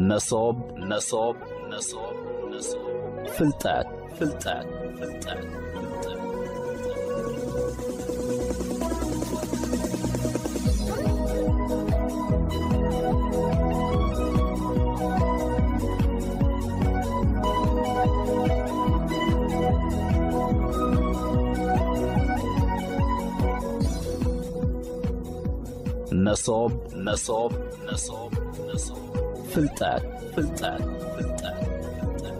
መሶብ፣ መሶብ፣ መሶብ፣ መሶብ። ፍልጠት፣ ፍልጠት፣ ፍልጠት፣ ፍልጠት። መሶብ፣ መሶብ፣ መሶብ፣ መሶብ። ፍልጠት፣ ፍልጠት፣ ፍልጠት፣ ፍልጠት።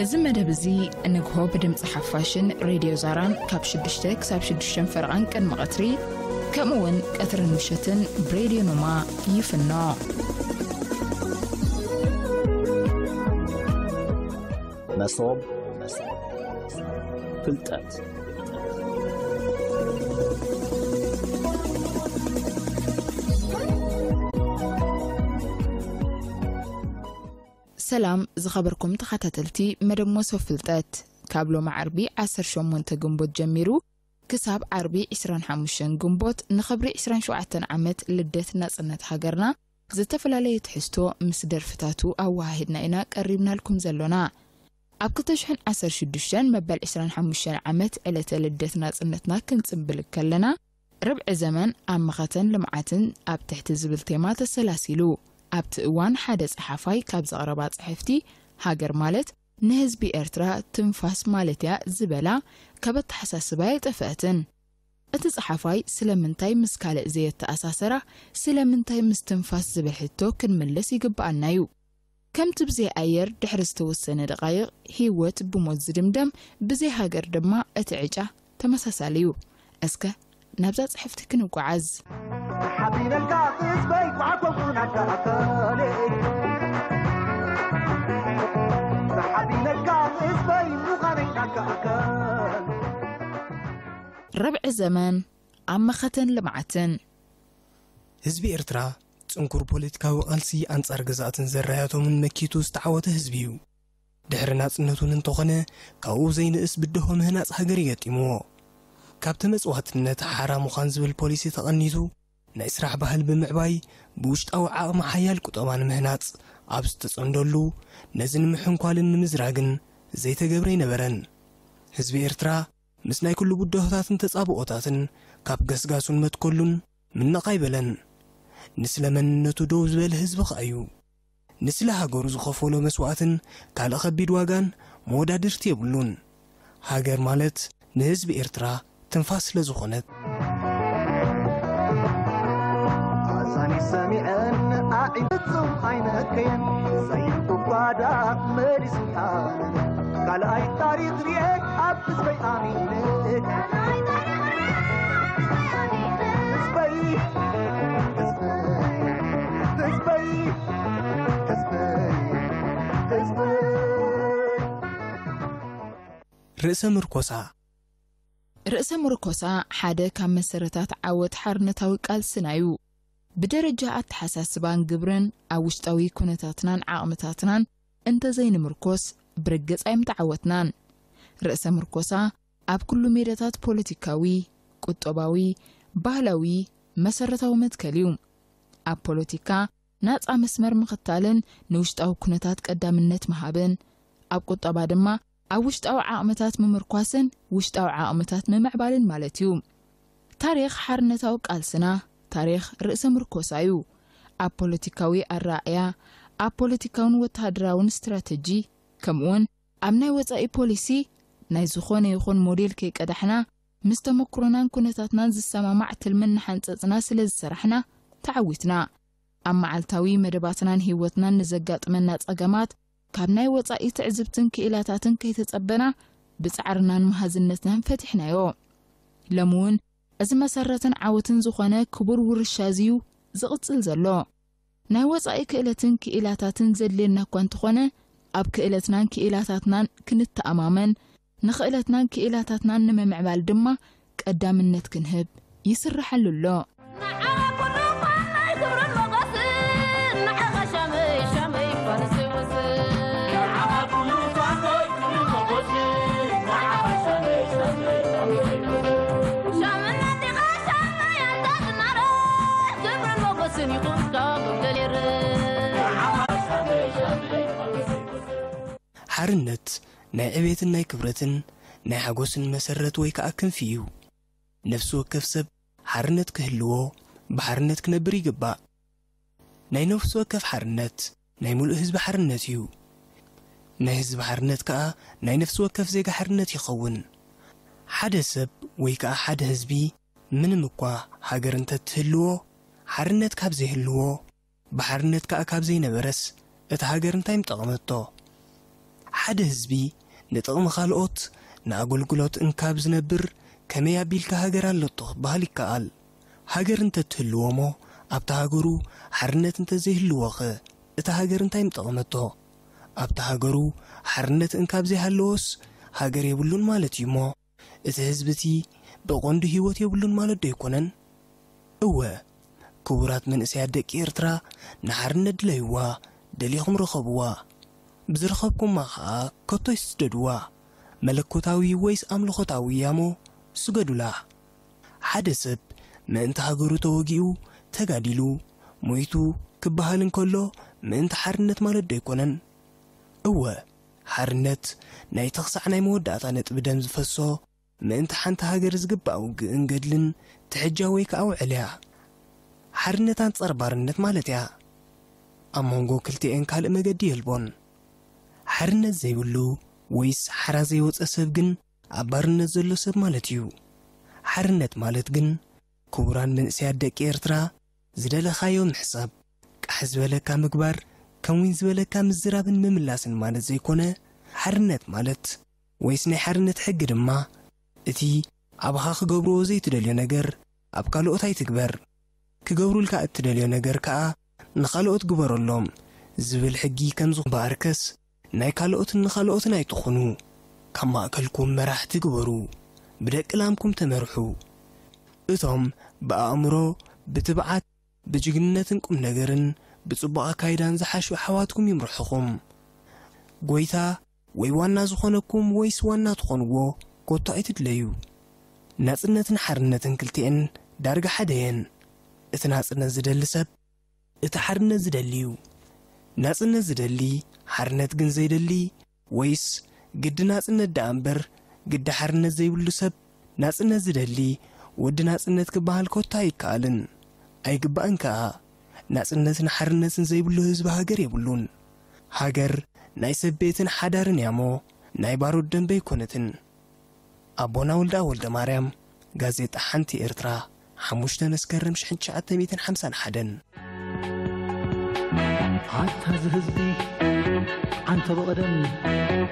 እዚ መደብ እዚ ንግሆ ብድምፂ ሓፋሽን ሬድዮ ዛራን ካብ ሽዱሽተ ክሳብ ሽዱሽተ ፈረቓን ቅድሚ ቀትሪ፣ ከምኡ እውን ቀትርን ምሸትን ብሬድዮ ኖማ ይፍኖ። መሶብ፣ መሶብ፣ ፍልጠት። ሰላም ዝኸበርኩም ተኸታተልቲ መደብ መሶብ ፍልጠት፣ ካብ ሎሚ ዓርቢ ዓሰርተ ሸሞንተ ግንቦት ጀሚሩ ክሳብ ዓርቢ ዕስራን ሓሙሽተን ግንቦት ንኽብሪ ዕስራን ሸውዓተን ዓመት ልደት ናጽነት ሃገርና ዝተፈላለየ ትሕዝቶ ምስ ደርፍታቱ ኣወሃሂድና ኢና ቀሪብናልኩም ዘሎና። ኣብ ክልተ ሽሕን ዓሰርተ ሽዱሽተን መበል ዕስራን ሓሙሽተን ዓመት ዕለተ ልደት ናጽነትና ክንጽንብል ከለና፣ ርብዒ ዘመን ኣብ መኸተን ልምዓትን ኣብ ትሕቲ ዝብል ቴማ ተሰላሲሉ። ኣብቲ እዋን ሓደ ጸሓፋይ ካብ ዘቕረባ ጽሕፍቲ፣ ሃገር ማለት ንህዝቢ ኤርትራ ትንፋስ ማለት እያ ዝበላ ካብ ኣተሓሳስባ ኣይጠፍአትን። እቲ ጸሓፋይ ስለምንታይ ምስ ካልእ ዘየተኣሳሰራ፣ ስለምንታይ ምስ ትንፋስ ዝብል ሕቶ ክንምልስ ይግብኣና እዩ። ከምቲ ብዘይ ኣየር ድሕሪ ዝተወሰነ ደቓይቕ ህይወት ብሞት ዝድምደም፣ ብዘይ ሃገር ድማ እቲ ዕጫ ተመሳሳሊ እዩ። እስከ ናብዛ ጽሕፍቲ ክንጓዓዝ። ሓቢነልካ ህዝበይ ኳዕኮኩ ናካ ኣካለይ። ሓቢነልካ ህዝበይ ምዃነይ ናካ ኣካል። ርብዒ ዘመን ኣብ መኸተን ልምዓትን። ህዝቢ ኤርትራ ጽንኩር ፖለቲካዊ ቃልሲ ኣንጻር ገዛእትን ዘራያቶምን መኪቱ ዝተዓወተ ህዝቢ እዩ። ድሕሪ ናጽነቱን እንተኾነ ካብኡ ዘይንእስ ብድሆ ምህናጽ ሃገር ይገጢምዎ። ካብ ተመጽዋትነት ሓራ ምዃን ዝብል ፖሊሲ ተቐኒቱ ናይ ስራሕ ባህል ብምዕባይ ብውሽጣዊ ዓቕሚ ሓያል ቁጠባ ንምህናጽ ኣብ ዝተጸምደሉ ነዚ ንምሕንኳልን ንምዝራግን ዘይተገብረ ኣይነበረን። ህዝቢ ኤርትራ ምስ ናይ ኩሉ ብድሆታትን ተጻብኦታትን ካብ ገስጋሱን መትከሉን ምነቕ ኣይበለን። ንስለ መንነቱ ደው ዝበለ ህዝቢ ኸኣ እዩ። ንስለ ሃገሩ ዝኸፈሎ መስዋእትን ካልእ ኸቢድ ዋጋን መወዳድርቲ የብሉን። ሃገር ማለት ንህዝቢ ኤርትራ ትንፋስ ስለ ዝኾነት። ኣዛኒ ሰሚዐን ኣዒንቲ ፍጹም ኣይነከየን፣ ዘይንቁ ጓዳ መሊሱ ሓበነ። ካልኣይ ታሪኽ ርኤ ኣብ ህዝበይ ኣሚነ። ህዝበይ፣ ህዝበይ፣ ህዝበይ፣ ህዝበይ፣ ህዝበይ። ርእሰ ምርኮሳ። ርእሰ ምርኮሳ ሓደ ካብ መሰረታት ዓወት ሓርነታዊ ቃልስና እዩ። ብደረጃ ኣተሓሳስባን ግብርን ኣብ ውሽጣዊ ኩነታትናን ዓቕምታትናን እንተዘይንምርኮስ ብርግጽ ኣይምተዓወትናን። ርእሰ ምርኮሳ ኣብ ኩሉ ሜዳታት ፖለቲካዊ፣ ቁጠባዊ፣ ባህላዊ መሰረታዊ መትከል እዩ። ኣብ ፖለቲካ ናጻ መስመር ምኽታልን ንውሽጣዊ ኩነታት ቀዳምነት ምሃብን፣ ኣብ ቁጠባ ድማ ኣብ ውሽጣዊ ዓቕምታት ምምርኳስን ውሽጣዊ ዓቕምታት ምምዕባልን ማለት እዩ። ታሪኽ ሓርነታዊ ቃልስና ታሪኽ ርእሰ ምርኮሳ እዩ። ኣብ ፖለቲካዊ ኣረኣእያ፣ ኣብ ፖለቲካውን ወተሃደራውን ስትራተጂ፣ ከምኡውን ኣብ ናይ ወጻኢ ፖሊሲ ናይ ዝኾነ ይኹን ሞዴል ከይቀዳሕና፣ ምስ ተመኩሮናን ኩነታትናን ዝሰማማዕ ትልሚ እናሓንጸጽና ስለ ዝሰራሕና ተዓዊትና። ኣብ መዓልታዊ መደባትናን ህይወትናን ንዘጋጥመና ጸገማት ካብ ናይ ወጻኢ ትዕዝብትን ክኢላታትን ከይተጸበና ብጻዕርናን መሃዝነትናን ፈቲሕናዮ። ሎሚ እውን እዚ መሰረትን ዓወትን ዝኾነ ክቡር ውርሻ እዚ እዩ ዝቕጽል ዘሎ። ናይ ወጻኢ ክእለትን ክኢላታትን ዘድልየና እኳ እንተኾነ፣ ኣብ ክእለትናን ክኢላታትናን ክንተኣማመን፣ ንኽእለትናን ክኢላታትናን ንምምዕባል ድማ ቀዳምነት ክንህብ ይስርሓሉ ኣሎ። ንዓና ኩሉ እኳ ናይ ክብርን ሞገስን ሓርነት ናይ ዕቤትን ናይ ክብረትን ናይ ሓጎስን መሰረት ወይ ከኣ ክንፊ እዩ። ነፍሲ ወከፍ ሰብ ሓርነት ክህልዎ፣ ብሓርነት ክነብር ይግባእ። ናይ ነፍሲ ወከፍ ሓርነት ናይ ሙሉእ ህዝቢ ሓርነት እዩ። ናይ ህዝቢ ሓርነት ከኣ ናይ ነፍሲ ወከፍ ዜጋ ሓርነት ይኸውን። ሓደ ሰብ ወይ ከኣ ሓደ ህዝቢ ምንም እኳ ሃገር እንተትህልዎ፣ ሓርነት ካብ ዘይህልዎ፣ ብሓርነት ከኣ ካብ ዘይነበረስ፣ እታ ሃገር እንታይ ምጠቐመቶ? ሓደ ህዝቢ ንጥቕሚ ካልኦት፣ ንኣገልግሎት እንካብ ዝነብር ከመይ ኣቢልካ ሃገር ኣለቶ ክበሃል ይከኣል? ሃገር እንተትህልዎ እሞ፣ ኣብታ ሃገሩ ሓርነት እንተዘይህልዎኸ፣ እታ ሃገር እንታይ ምጠቐመቶ? ኣብታ ሃገሩ ሓርነት እንካብ ዘይሃለዎስ፣ ሃገር የብሉን ማለት እዩ እሞ፣ እቲ ህዝቢ እቲ ብቐንዱ ህይወት የብሉን ማለት ዶ ኣይኮነን? እወ፣ ክቡራት መንእሰያት ደቂ ኤርትራ፣ ንሓርነት ድለይዋ፣ ደሊኹም ርኸብዋ። ብዝረኸብኩማ ኸኣ ከቶ ኣይትስደድዋ። መለኮታዊ ወይስ ኣምልኾታዊ ያሞ ስገዱላ። ሓደ ሰብ ምእንቲ ሃገሩ ተወጊኡ፣ ተጋዲሉ፣ ሞይቱ ክበሃል እንከሎ፣ ምእንቲ ሓርነት ማለት ዶ ኣይኮነን? እወ፣ ሓርነት ናይቲ ክሳዕ ናይ መወዳእታ ነጥቢ ደም ዝፈሶ፣ ምእንቲ ሓንቲ ሃገር ዝግባእ ውግእን ገድልን ትሕጃ ወይ ከኣ ውዕል እያ። ሓርነት ኣንጻር ባርነት ማለት እያ። ኣብ መንጎ ክልቲኤን ካልእ መገዲ የልቦን። ሓርነት ዘይብሉ ወይስ ሓራ ዘይወጸ ሰብ ግን ኣብ ባርነት ዘሎ ሰብ ማለት እዩ። ሓርነት ማለት ግን፣ ክቡራን መንእሰያት ደቂ ኤርትራ፣ ዝደለኻዮ ምሕሳብ፣ ቃሕ ዝበለካ ምግባር፣ ከም ዊን ዝበለካ ምዝራብን ምምላስን ማለት ዘይኮነ፣ ሓርነት ማለት፣ ወይስ ናይ ሓርነት ሕጊ ድማ፣ እቲ ኣባኻ ክገብርዎ ዘይትደልዮ ነገር ኣብ ካልኦት ኣይትግበር፣ ክገብሩልካ እትደልዮ ነገር ከኣ ንኻልኦት ግበረሎም ዝብል ሕጊ ከም ዝኾነ እምበኣርከስ፣ ናይ ካልኦትን ንኻልኦትን ኣይትኹኑ። ካብ ማእከልኩም መራሕቲ ግበሩ፣ ብደቂ ላምኩም ተመርሑ። እቶም ብኣእምሮ፣ ብትብዓት፣ ብጅግንነትን ቁም ነገርን ብጽቡቕ ኣካይዳን ዝሓሹ ኣሕዋትኩም ይምርሑኹም። ጎይታ ወይ ዋና ዝኾነኩም ወይስ ዋና ትኾንዎ ኮቶ ኣይትድለዩ። ናጽነትን ሓርነትን ክልቲኤን ዳርጋ ሓደ እየን። እቲ ናጽነት ዝደሊ ሰብ እቲ ሓርነት ዝደሊ እዩ። ናጽነት ዝደሊ፣ ሓርነት ግን ዘይደሊ፣ ወይስ ግዲ ናጽነት ደኣ እምበር ግዲ ሓርነት ዘይብሉ ሰብ ናጽነት ዝደሊ ወዲ ናጽነት ክበሃል ኮታ ኣይከኣልን። ኣይግባእን ከኣ። ናጽነትን ሓርነትን ዘይብሉ ህዝቢ ሃገር የብሉን። ሃገር ናይ ሰብ ቤትን ሓዳርን እያ እሞ ናይ ባሮት ደንበ ኣይኮነትን። ኣቦና ወልደኣብ ወልደማርያም፣ ጋዜጣ ሓንቲ ኤርትራ፣ ሓሙሽተ መስከረም ሽሕን ትሽዓተ ሚእትን ሓምሳን ሓደን። ኣታ እዚ ህዝቢ ዓንተ ብቐደም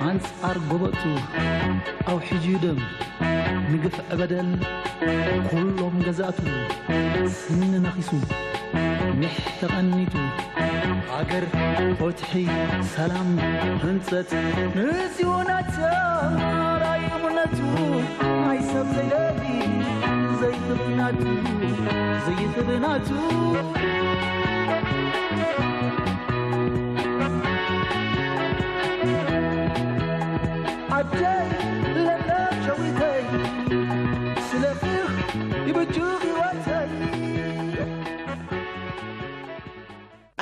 ኣንጻር ጎበጡ ኣውሒጁ ደም ንግፍዒ በደል ኩሎም ገዛእቱ ስኒ ነኺሱ ኒሕ ተቐኒቱ ሃገር ፍትሒ ሰላም ህንጸት ንዚኡ ናተማራይ እምነቱ ናይ ሰብ ዘይደሊ ዘይኽብናቱ ዘይኽብናቱ ዓደይ ለምለም ሸዊተይ ስለኺ ይብጁ ህይወተይ።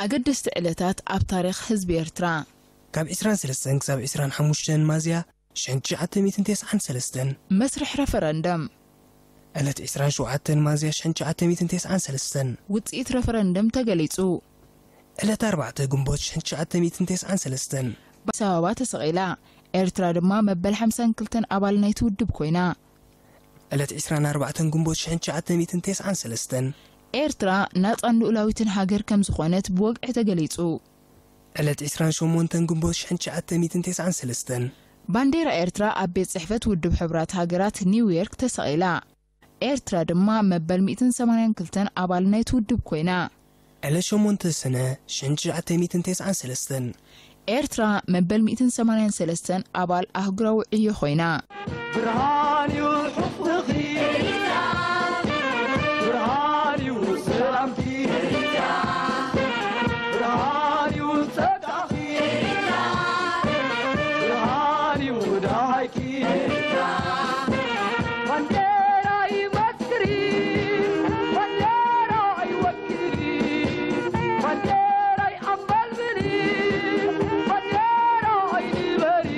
ኣገደስቲ ዕለታት ኣብ ታሪኽ ህዝቢ ኤርትራ። ካብ ዕስራን ሰለስተን ክሳብ ዕስራን ሓሙሽተን ማዝያ ሽሕን ትሽዓተ ሚእትን ተስዓን ሰለስተን። መስርሕ ረፈረንደም። ዕለት ዕስራን ሸውዓተን ማዝያ ሽሕን ትሽዓተ ሚእትን ተስዓን ሰለስተን። ውጽኢት ረፈረንደም ተገሊጹ። ዕለት ኣርባዕተ ግንቦት ሽሕን ትሽዓተ ሚእትን ተስዓን ሰለስተን። ኣዲስ ኣበባ ተሰቒላ። ኤርትራ ድማ መበል ሓምሳን ክልተን ኣባል ናይቲ ውድብ ኮይና። ዕለት ዕስራን ኣርባዕተን ግንቦት ሽሕን ትሽዓተ ሚእትን ተስዓን ሰለስተን። ኤርትራ ናጻን ልኡላዊትን ሃገር ከም ዝኾነት ብወግዒ ተገሊጹ። ዕለት ዕስራን ሸሞንተን ግንቦት ሽሕን ትሽዓተ ሚእትን ተስዓን ሰለስተን። ባንዴራ ኤርትራ ኣብ ቤት ጽሕፈት ውድብ ሕቡራት ሃገራት ኒውዮርክ ተሰቒላ። ኤርትራ ድማ መበል ሚእትን ሰማንያን ክልተን ኣባል ናይቲ ውድብ ኮይና። ዕለት ሸሞንተ ሰነ ሽሕን ትሽዓተ ሚእትን ተስዓን ሰለስተን። ኤርትራ መበል ሚእትን ሰማንያን ሰለስተን ኣባል ኣህጉራዊ ዕዮ ኮይና። ብርሃን እዩ ሕፍትኺ፣ ብርሃን እዩ ሰላምኪ፣ ብርሃን እዩ ጸጋኺ፣ ብርሃን እዩ ደሃይኪ። ባንዴራይ መስክሪ፣ ባንዴራይ ወኪሊ፣ ባንዴራይ ኣንበልብሊ፣ ባንዴራይ ንበሪ።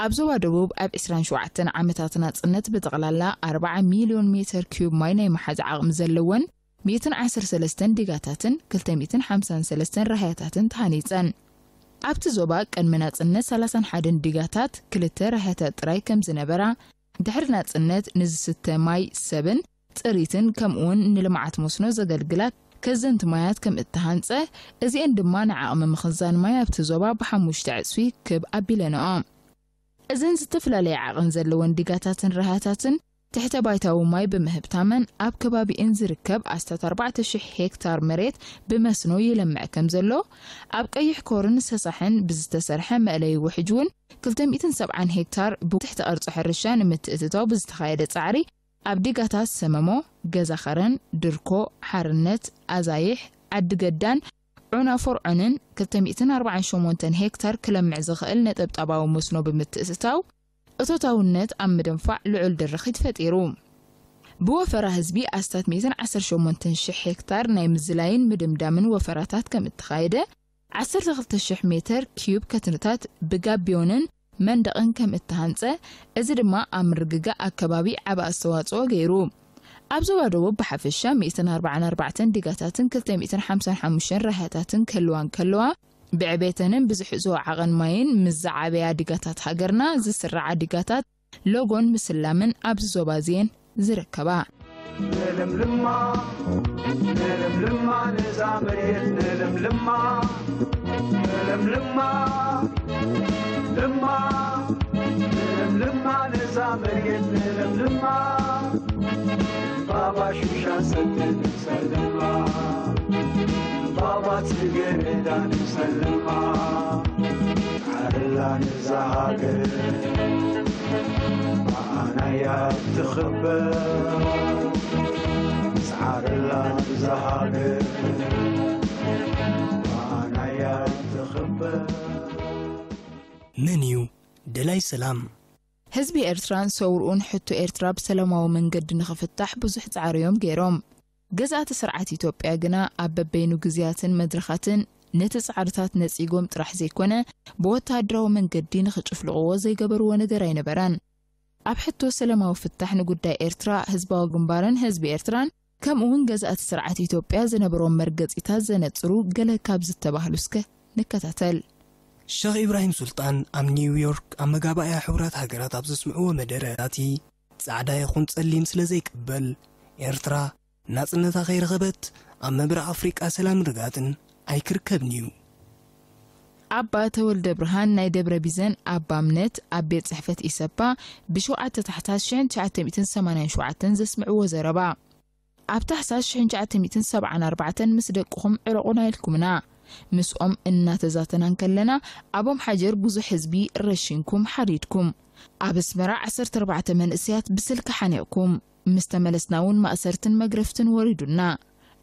ኣብ ዞባ ደቡብ ኣብ ዕስራን ሸውዓተን ዓመታት ናጽነት ብጠቕላላ ኣርባዓ ሚልዮን ሜተር ኪዩብ ማይ ናይ መሓዝ ዓቕሚ ዘለወን ሚእትን ዓሰርተ ሰለስተን ዲጋታትን ክልተ ሚእትን ሓምሳን ሰለስተን ራህያታትን ተሃኒጸን። ኣብቲ ዞባ ቅድሚ ናጽነት ሰላሳን ሓደን ዲጋታት ክልተ ራህያታት ጥራይ ከም ዝነበራ፣ ድሕሪ ናጽነት ንዝስተ ማይ ሰብን ጥሪትን ከምኡውን ንልምዓት መስኖ ዘገልግላ ከዘንቲ ማያት ከም እተሃንጸ፣ እዚአን ድማ ንዓቕሚ ምኽዛን ማይ ኣብቲ ዞባ ብሓሙሽተ ዕጽፊ ክብ ኣቢለንኦ። እዘን ዝተፈላለየ ዓቐን ዘለወን ዲጋታትን ራህያታትን ትሕተ ባይታዊ ማይ ብምህብታመን ኣብ ከባቢእን ዝርከብ ኣስታት ኣርባዕተ ሽሕ ሄክታር መሬት ብመስኖ ይለምዕ ከም ዘሎ፣ ኣብ ቀይሕ ኮርን ሰሳሕን ብዝተሰርሐ መእለዪ ውሕጅ እውን ክልተ ሚእትን ሰብዓን ሄክታር ብትሕተ ቅርጺ ሕርሻ ንምትእትታው ብዝተኻየደ ጻዕሪ ኣብ ዲጋታት ሰመሞ፣ ገዛ ኸረን፣ ድርኮ፣ ሓርነት፣ ኣዛይሕ፣ ዓዲ ገዳን ዑና ፎርዖንን ክልተ ሚእትን ኣርባዓን ሸሞንተን ሄክታር ክለምዕ ዝኽእል ነጠብጣባዊ መስኖ ብምትእትታው፣ እቶታውነት ኣብ ምድንፋዕ ልዑል ድርኺት ፈጢሩ። ብወፈራ ህዝቢ ኣስታት ሚእትን ዓሰርተ ሸሞንተን ሽሕ ሄክታር ናይ ምዝላይን ምድምዳምን ወፈራታት ከም እተኻየደ፣ ዓሰርተ ክልተ ሽሕ ሜተር ኪዩብ ከትንታት ብጋቢዮንን መንደቕን ከም እተሃንጸ፣ እዚ ድማ ኣብ ምርግጋእ ኣከባቢ ዓቢ ኣስተዋጽኦ ገይሩ። ኣብ ዞባ ደቡብ ብሓፈሻ ሚእትን ኣርባዓን ኣርባዕተን ዲጋታትን ክልተ ሚእትን ሓምሳን ሓሙሽተን ራህያታትን ክህልዋ እንከለዋ፣ ብዕቤተንን ብዝሕዝኦ ዓቐን ማይን ምስ ዝዓበያ ዲጋታት ሃገርና ዝስራዓ ዲጋታት ሎጎን ምስላምን ኣብዚ ዞባ እዚኤን ዝርከባ። ንለምልማ፣ ንለምልማ፣ ነዛ መሬት ንለምልማ፣ ንለምልማ፣ ልማ፣ ንለምልማ፣ ነዛ መሬት ንለምልማ፣ ባባ ሹሻ ሰቲ ንሰልማ፣ ባባ ጽጌረዳ ንሰልማ፣ ዓርላ ነዛ ሃገር፣ ኣናያ ትኽበር፣ ስዓርላ ነዛ ሃገር፣ ኣናያ ትኽበር። መን እዩ ደላይ ሰላም? ህዝቢ ኤርትራን ሰውርኡን ሕቶ ኤርትራ ብሰላማዊ መንገዲ ንኽፍታሕ ብዙሕ ጻዕሪ እዮም ገይሮም። ገዛእቲ ስርዓት ኢትዮጵያ ግና ኣብ በበይኑ ግዜያትን መድረኻትን ነቲ ጻዕርታት ነጺጎም ጥራሕ ዘይኮነ፣ ብወተሃደራዊ መንገዲ ንኽጭፍልቕዎ ዘይገበርዎ ነገር ኣይነበረን። ኣብ ሕቶ ሰላማዊ ፍታሕ ንጉዳይ ኤርትራ፣ ህዝባዊ ግንባርን ህዝቢ ኤርትራን ከምኡውን ገዛእቲ ስርዓት ኢትዮጵያ ዝነበሮም መርገጺታት ዘነጽሩ ገለ ካብ ዝተባህሉ እስከ ንከታተል። ሸኽ ኢብራሂም ሱልጣን ኣብ ኒውዮርክ ኣብ መጋባእያ ሕቡራት ሃገራት ኣብ ዘስምዕዎ መደረ፣ እቲ ጻዕዳ ይኹን ጸሊም ስለ ዘይቅበል፣ ኤርትራ ናጽነታ ከይረኸበት ኣብ ምብራቕ ኣፍሪቃ ሰላምን ርግኣትን ኣይክርከብን እዩ። ኣባ ተወልደ ብርሃን ናይ ደብረ ቢዘን ኣባ እምነት ኣብ ቤት ጽሕፈት ኢሰፓ ብሸውዓተ ታሕሳስ ሽሕን ትሽዓተ ሚእትን ሰማንያን ሸውዓተን ዘስምዕዎ ዘረባ። ኣብ ታሕሳስ ሽሕን ትሽዓተ ሚእትን ሰብዓን ኣርባዕተን ምስ ደቅኹም ዕረቑና ኢልኩምና። ምስኦም እናተዛተና እንከለና፣ ኣብ ኦም ሓጀር ብዙሕ ህዝቢ ረሺንኩም ሓሪድኩም። ኣብ ኣስመራ ዓሰርተ ኣርባዕተ መንእሰያት ብስልኪ ሓኒቕኩም። ምስ ተመለስና እውን ማእሰርትን መግረፍትን ወሪዱና።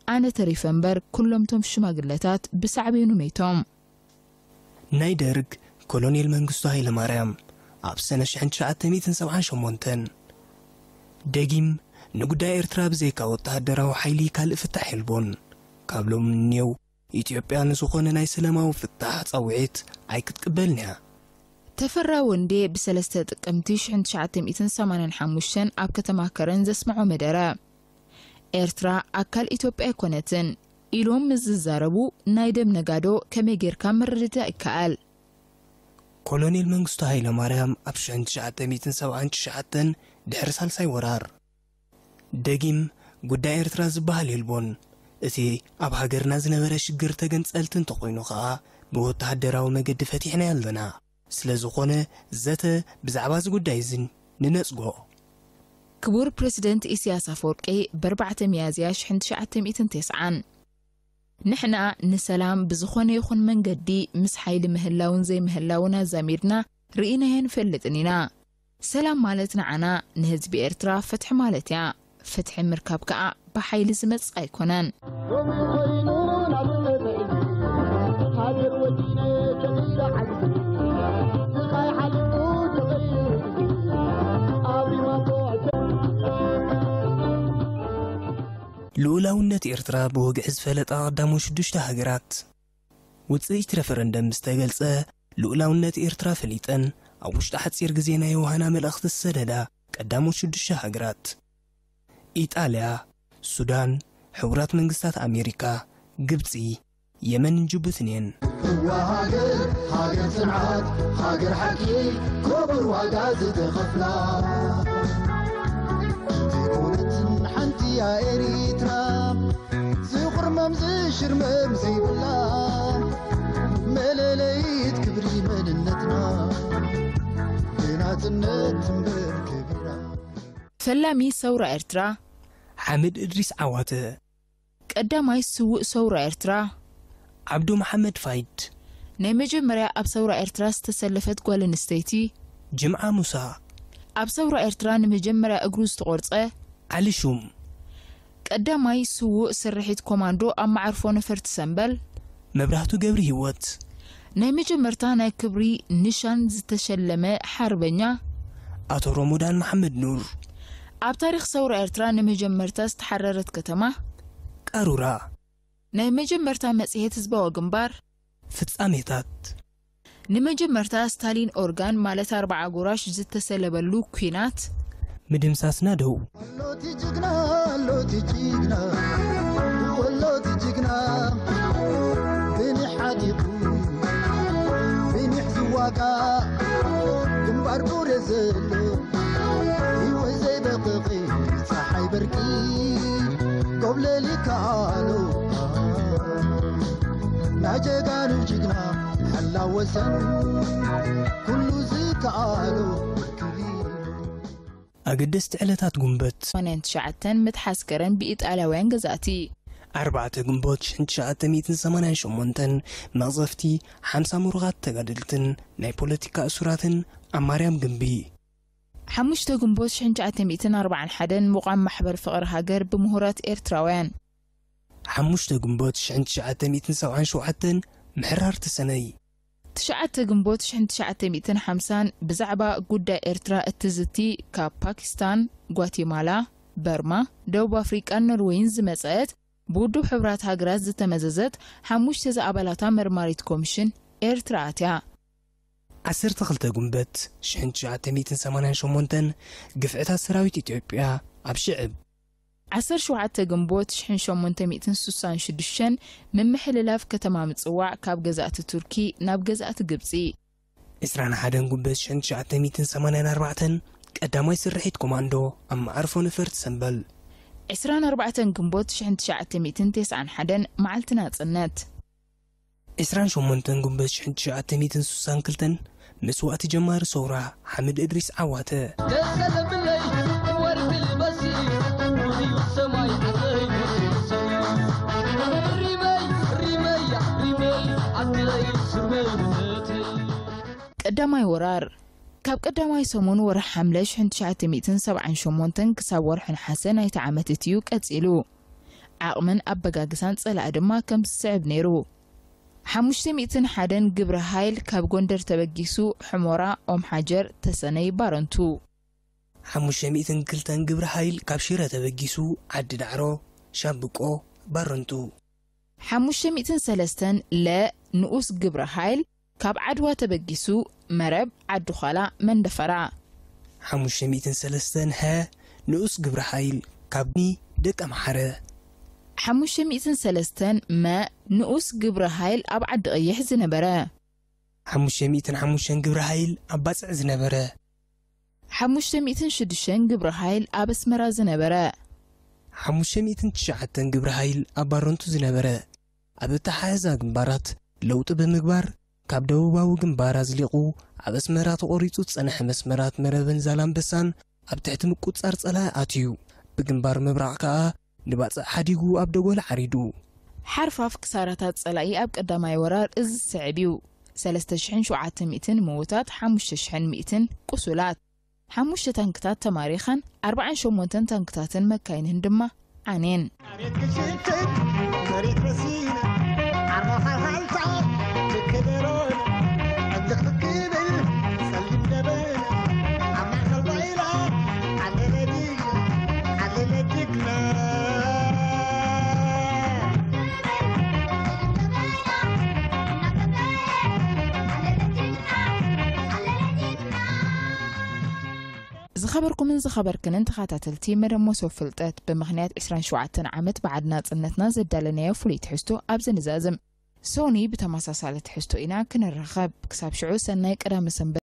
ኣነ ተሪፈ እምበር፣ ኩሎም ቶም ሽማግለታት ብሳዕቤኑ መይቶም። ናይ ደርግ ኮሎኔል መንግስቱ ሃይለማርያም ኣብ ሰነ ሽሕን ትሽዓተ ሚእትን ሰብዓን ሸሞንተን ደጊም ንጉዳይ ኤርትራ ብዘይካ ወተሃደራዊ ሓይሊ ካልእ ፍታሕ የልቦን። ካብ ሎም ንኔው ኢትዮጵያ ንዝኾነ ናይ ሰላማዊ ፍታሕ ጻውዒት ኣይክትቅበልን እያ። ተፈራ ወንዴ ብሰለስተ ጥቅምቲ ሽሕን ትሽዓተ ሚእትን ሰማንያን ሓሙሽተን ኣብ ከተማ ከረን ዘስምዖ መደረ፣ ኤርትራ ኣካል ኢትዮጵያ ኣይኮነትን ኢሎም ምስ ዝዛረቡ፣ ናይ ደም ነጋዶ ከመይ ጌርካ ምርድዳእ ይከኣል? ኮሎኔል መንግስቱ ሃይለማርያም ኣብ ሽሕን ትሽዓተ ሚእትን ሰብዓን ትሽዓተን ድሕሪ ሳልሳይ ወራር ደጊም ጉዳይ ኤርትራ ዝበሃል የልቦን። እቲ ኣብ ሃገርና ዝነበረ ሽግር ተገንጸልቲ እንተኾይኑ ኸኣ ብወተሃደራዊ መገዲ ፈቲሕናዮ ኣለና። ስለ ዝኾነ ዘተ ብዛዕባ እዚ ጉዳይ እዚ ንነጽጎ። ክቡር ፕረሲደንት ኢሳያስ ኣፈወርቂ ብኣርባዕተ ሚያዝያ ሽሕን ትሽዓተ ሚእትን ተስዓን፣ ንሕና ንሰላም ብዝኾነ ይኹን መንገዲ ምስ ሓይሊ ምህላውን ዘይምህላውን ኣዛሚድና ርኢናዮ ንፈልጥን ኢና። ሰላም ማለት ንዓና ንህዝቢ ኤርትራ ፍትሒ ማለት እያ። ፍትሒ ምርካብ ከኣ ብሓይሊ ዝመጽእ ኣይኮነን። ሎሚ ኮይኑ ናብ ጸብሒ ሃገር ወዲነ ከሚረ ዓንዚ ስቓይ ሓሊፉ ተቐይሩ ኣብዚ ማቶ ልኡላውነት ኤርትራ ብወግዒ ዝፈለጣ ቀዳሞ ሽዱሽተ ሃገራት። ውጽኢት ረፈረንደም ምስ ተገልጸ፣ ልኡላውነት ኤርትራ ፈሊጠን ኣብ ውሽጢ ሓጺር ግዜ ናይ ዮሃና መልእኽቲ ዝሰደዳ ቀዳሞት ሽዱሽተ ሃገራት፣ ኢጣልያ፣ ሱዳን፣ ሕቡራት መንግስታት ኣሜሪካ፣ ግብጺ፣ የመንን ጅቡትን እየን። እዋ ሃገር፣ ሃገር ጽንዓት፣ ሃገር ሓቂ፣ ክቡር ዋጋ ዝተኸፍላ። ዘይኮነትን ሓንቲ እያ ኤሪትራ፣ ዝቑርመም ዝሽርመም ዘይብላ፣ መለለይት ክብሪ መንነትና፣ ብናጽነት ትንበር ክብራ። ፈላሚ ሰውራ ኤርትራ። ሓምድ እድሪስ ዓዋተ። ቀዳማይ ስዉእ ሰውራ ኤርትራ። ዓብዱ መሓመድ ፋይድ። ናይ መጀመርያ ኣብ ሰውራ ኤርትራ ዝተሰለፈት ጓል ኣንስተይቲ። ጅምዓ ሙሳ። ኣብ ሰውራ ኤርትራ ንመጀመርያ እግሩ ዝተቖርጸ። ዓሊ ሹም። ቀዳማይ ስዉእ ስርሒት ኮማንዶ ኣብ መዓርፎ ነፈርቲ ሰምበል። መብራህቱ ገብሪ ህይወት። ናይ መጀመርታ ናይ ክብሪ ንሻን ዝተሸለመ ሓርበኛ። ኣቶ ሮሞዳን መሓመድ ኑር። ኣብ ታሪኽ ሰውራ ኤርትራ ንመጀመርታ ዝተሓረረት ከተማ። ቃሩራ። ናይ መጀመርታ መጽሔት ህዝባዊ ግንባር። ፍጻሜታት። ንመጀመርታ ስታሊን ኦርጋን ማለት ኣርብዓ ጎራሽ ዝተሰለበሉ ኲናት። ምድምሳስና ደው። ኣሎቲ ጅግና፣ ኣሎቲ ጅግና፣ ወሎቲ ጅግና፣ ብኒሕ ሓዲጉ፣ ብኒሕ ዝዋጋ፣ ግንባር ቡሬ ዘሎ፣ ህይወት ዘይበቕቒ፣ ጸሓይ በርቂ፣ ጎብለል ይከኣሎ። ናይ ጀጋኑ ጅግና፣ ሓላው ወሰን፣ ኩሉ ዝከኣሎ፣ ክብሪ። ኣገደስቲ ዕለታት ጉንበት። ሰማንያን ትሽዓተን ምትሓዝ ከረን ብኢጣልያውያን ገዛእቲ። ኣርባዕተ ግንቦት ሽሕን ትሽዓተ ሚእትን ሰማንያን ሸሞንተን መቕዘፍቲ ሓምሳ ምሩኻት ተጋደልትን ናይ ፖለቲካ እሱራትን ኣብ ማርያም ግምቢ። ሓሙሽተ ግንቦት ሽሕን ትሽዓተ ሚእትን ኣርባዓን ሓደን ምቋም ማሕበር ፍቕሪ ሃገር ብምሁራት ኤርትራውያን። ሓሙሽተ ግንቦት ሽሕን ትሽዓተ ሚእትን ሰብዓን ሸውዓተን ምሕራር ተሰነይ። ትሽዓተ ግንቦት ሽሕን ትሽዓተ ሚእትን ሓምሳን ብዛዕባ ጉዳይ ኤርትራ እትዝቲ ካብ ፓኪስታን፣ ጓቲማላ፣ በርማ፣ ደቡብ ኣፍሪቃን ኖርወይን ዝመጸት ብውድብ ሕቡራት ሃገራት ዝተመዘዘት ሓሙሽተ ዝኣባላታ መርማሪት ኮሚሽን ኤርትራ ኣትያ። ዓሰርተ ክልተ ግንቦት ሽሕን ትሽዓተ ሚእትን ሰማንያን ሸሞንተን ግፍዕታት ሰራዊት ኢትዮጵያ ኣብ ሽዕብ። ዓሰርተ ሸውዓተ ግንቦት ሽሕን ሸሞንተ ሚእትን ስሳን ሽዱሽተን ምምሕልላፍ ከተማ ምጽዋዕ ካብ ገዛእቲ ቱርኪ ናብ ገዛእቲ ግብጺ። ዕስራን ሓደን ግንቦት ሽሕን ትሽዓተ ሚእትን ሰማንያን ኣርባዕተን ቀዳማይ ስርሒት ኮማንዶ ኣብ መዓርፎ ነፈርቲ ሰምበል። ዕስራን ኣርባዕተን ግንቦት ሽሕን ትሽዓተ ሚእትን ተስዓን ሓደን መዓልቲ ናጽነት። ዕስራን ሸሞንተን ግንቦት ሽሕን ትሽዓተ ሚእትን ስሳን ክልተን መስዋእቲ ጀማሪ ሰውራ ሓምድ እድሪስ ዓዋተ። ደሰለብለይ ወርቂ ልበሲ፣ ሙሉዩ ሰማይ ዓለይ፣ ሪመይ፣ ሪመይ፣ ሪመይ፣ ዓለይ፣ ስመይ፣ ቀዳማይ ወራር። ካብ ቀዳማይ ሰሙን ወርሒ ሓምለ ሽሕን ትሽዓተ ሚእትን ሰብዓን ሸሞንተን ክሳብ ወርሒ ነሓሰ ናይቲ ዓመት እትዩ ቀጺሉ። ዓቕምን ኣበጋግሳን ጸላኢ ድማ ከም ዝስዕብ ነይሩ። ሓሙሽተ ሚእትን ሓደን ግብረ ሃይል ካብ ጎንደር ተበጊሱ፣ ሕሞራ፣ ኦም ሓጀር፣ ተሰነይ፣ ባረንቱ። ሓሙሽተ ሚእትን ክልተን ግብረ ሃይል ካብ ሽረ ተበጊሱ፣ ዓዲ ዳዕሮ፣ ሻምብቆ፣ ባረንቱ። ሓሙሽተ ሚእትን ሰለስተን ለ ንኡስ ግብረ ሃይል ካብ ዓድዋ ተበጊሱ፣ መረብ፣ ዓዲ ዃላ፣ መንደፈራ። ሓሙሽተ ሚእትን ሰለስተን ሀ ንኡስ ግብረ ሃይል ካብ ኒ ደቀ ምሓረ። ሓሙሽተ ሚእትን ሰለስተን መ ንኡስ ግብረ ሃይል ኣብ ዓዲ ቀይሕ ዝነበረ። ሓሙሽተ ሚእትን ሓሙሽተን ግብረ ሃይል ኣብ ባጽዕ ዝነበረ። ሓሙሽተ ሚእትን ሽዱሽተን ግብረ ሃይል ኣብ ኣስመራ ዝነበረ። ሓሙሽተ ሚእትን ትሽዓተን ግብረ ሃይል ኣብ ባረንቱ ዝነበረ። ኣብ ኣተሓሕዛ ግንባራት ለውጢ ብምግባር፣ ካብ ደቡባዊ ግንባር ኣዝሊቑ ኣብ ኣስመራ ተቖሪጹ ዝጸንሐ መስመራት መረብን ዛላምበሳን ኣብ ትሕቲ ምቁጽጻር ጸላኢ ኣትዩ። ብግንባር ምብራቕ ከኣ ንባጽዕ ሓዲጉ ኣብ ደጎል ዓሪዱ። ሓርፋፍ ክሳራታት ጸላኢ ኣብ ቀዳማይ ወራር እዚ ዝስዕብ እዩ። ሰለስተ ሽሕን ሸውዓተ ሚእትን ምዉታት፣ ሓሙሽተ ሽሕን ሚእትን ቁሱላት። ሓሙሽተ ታንክታት ተማሪኸን፣ ኣርባዓን ሸሞንተን ታንክታትን መካይንን ድማ ዓንየን። ኣቤት ክሽትት መሬት በሲና፣ ዓርሞኻ ሃልታ ትክደሮና፣ ዕንትኽ ትክብል ጸሊም ደበና፣ ኣብ ማእከል ባይራ ዓለለ ጅግና፣ ዓለለ ጅግና። ዝኸበርኩምን ዝኸበርክንን ተኸታተልቲ መደብ መሶብ ፍልጠት፣ ብምኽንያት ዕስራን ሸውዓተን ዓመት በዓል ናጽነትና ዘዳለናዮ ፍሉይ ትሕዝቶ ኣብዚ ንዛዝም። ሶኒ፣ ብተመሳሳሊ ትሕዝቶ ኢና ክንራኸብ። ክሳብ ሽዑ ሰናይ ቀዳመ ሰንበት።